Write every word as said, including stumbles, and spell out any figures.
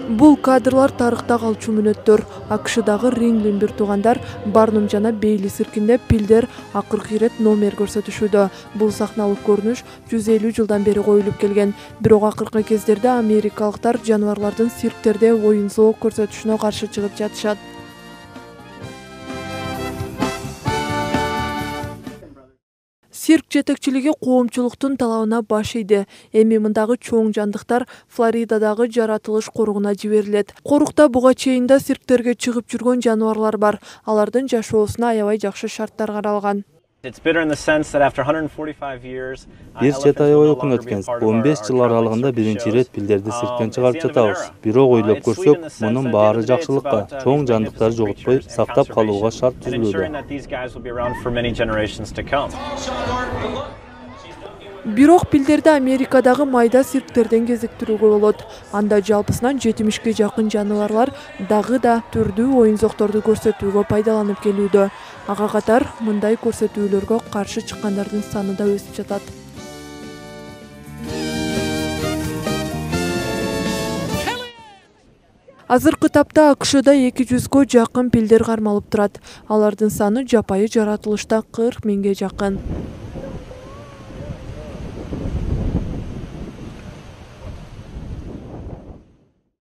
Бул кадрлар тарыхта калчу мүнөттөр. АКШдагы Римлин бир туугандар Барнум жана Бейли циркинде пилдер акыркы ирет номер көрсөтүшүүдө. Бул сахналык көрүнүш жүз элүү жылдан бери коюлуп келген. Бирок акыркы кездерде америкалыктар жаныбарлардын цирктерде оюн-зоок көрсөтүшүнө каршы чыгып жатышат. Цирк жетекчилиги коомчулуктун талабына баш ийди. Эми мындагы чоң жандыктар Флоридадагы жаратылыш коругуна жиберилет. Корукта буга чейин да цирктерге чыгып жүргөн жаныбарлар бар. Алардын жашоосуна аябай жакшы шарттар каралган. Бир жети ай ойкун өткөн он беш жыл аралыгында биринчи ирет пилдерди цирктен чыгарып жатабыз. Бирок ойлоп көрсөк, мунун баары жакшылыкка, чоң жандыктарды жоготпой сактап калууга шарт түзүлүүдө. Бирок пилдерди Америкадагы майда цирктерден кезиктирүүгө болот. Анда жалпысынан жетимишке жакын жаныбарлар дагы да түрдүү оюн-зоокторду көрсөтүүгө пайдаланып келүүдө. Ага катар мындай көрсөтүүлөргө каршы чыккандардын саны да өсүп жатат. Азыркы тапта АКШда эки жүзгө жакын пилдер кармалып турат. Алардын саны жапайы жаратылышта кырк миңге жакын.